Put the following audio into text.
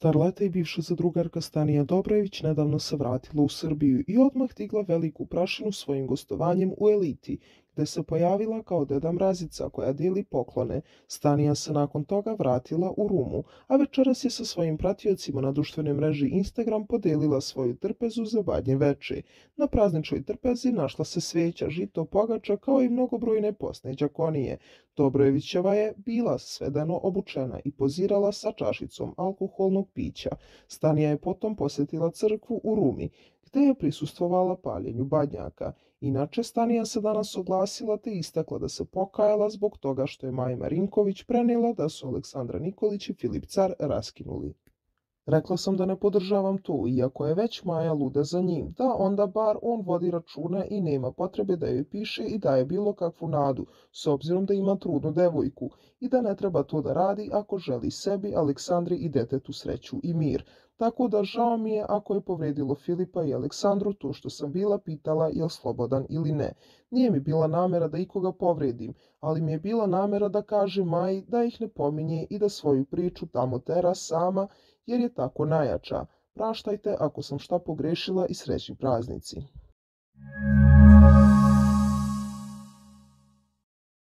Starleta i bivša zadrugarka Stanija Dobrojević nedavno se vratila u Srbiju i odmah digla veliku prašinu svojim gostovanjem u Eliti, gde se pojavila kao Deda Mrazica koja dijeli poklone. Stanija se nakon toga vratila u Rumu, a večeras je sa svojim pratiocima na društvenoj mreži Instagram podelila svoju trpezu za Badnje veče. Na prazničnoj trpezi našla se sveća, žito, pogača kao i mnogobrojne posne đakonije. Dobrojevićeva je bila svedeno obučena i pozirala sa čašicom alkoholnog pića. Stanija je potom posjetila crkvu u Rumi, gde je prisustvovala paljenju badnjaka. Inače, Stanija se danas oglasila te istakla da se pokajala zbog toga što je Maja Marinković prenijela da su Aleksandra Nikolić i Filip Car raskinuli. Rekla sam da ne podržavam to, iako je već Maja luda za njim, da onda bar on vodi računa i nema potrebe da joj piše i daje bilo kakvu nadu, s obzirom da ima trudnu devojku, i da ne treba to da radi ako želi sebi, Aleksandri i detetu sreću i mir. Tako da žao mi je ako je povredilo Filipa i Aleksandru to što sam bila pitala je li slobodan ili ne. Nije mi bila namera da ikoga povredim, ali mi je bila namera da kažem Maji da ih ne pominje i da svoju priču tamo tera sama, jer je tako najjača. Praštajte ako sam šta pogrešila i srećni praznici.